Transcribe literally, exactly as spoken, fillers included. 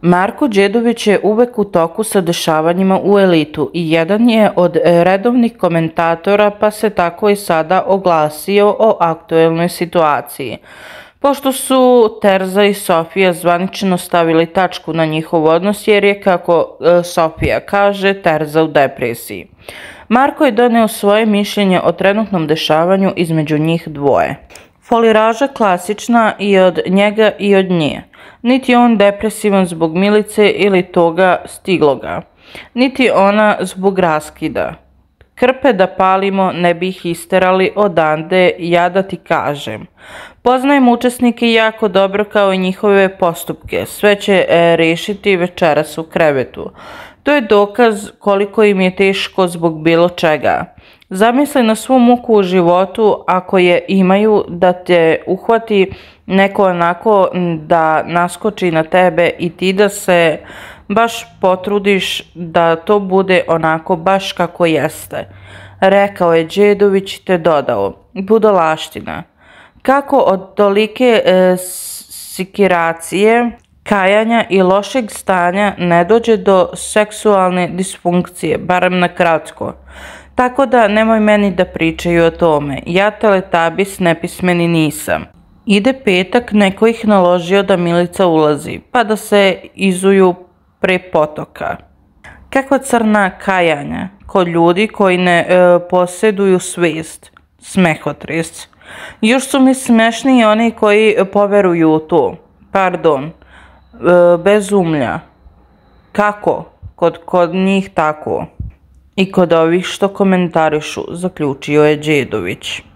Marko Đedović je uvek u toku sa dešavanjima u Elitu i jedan je od redovnih komentatora, pa se tako i sada oglasio o aktuelnoj situaciji. Pošto su Terza i Sofija zvanično stavili tačku na njihov odnos jer je, kako Sofija kaže, Terza u depresiji. Marko je doneo svoje mišljenje o trenutnom dešavanju između njih dvoje. Foliraža klasična i od njega i od nje. Niti je on depresivan zbog Milice ili toga stigloga, niti ona zbog raskida. Krpe da palimo ne bi ih isterali odande, ja da ti kažem. Poznajem učesnike jako dobro kao i njihove postupke, sve će e, rešiti večeras u krevetu. To je dokaz koliko im je teško zbog bilo čega. Zamisli na svu muku u životu ako je imaju, da te uhvati neko onako da naskoči na tebe i ti da se baš potrudiš da to bude onako baš kako jeste. Rekao je Đedović te dodao, budalaština. Kako od tolike e, sikiracije, kajanja i lošeg stanja ne dođe do seksualne disfunkcije, barem na kratko. Tako da nemoj meni da pričaju o tome, ja teletabis nepismeni nisam. Ide petak, neko ih naložio da Milica ulazi, pa da se izuju pre potoka. Kakva crna kajanja kod ljudi koji ne e, posjeduju svest, smehotres. Još su mi smešni oni koji poveruju u to, pardon, e, bez umlja. Kako? Kod, kod njih tako. I kod ovih što komentarišu, zaključio je Đedović.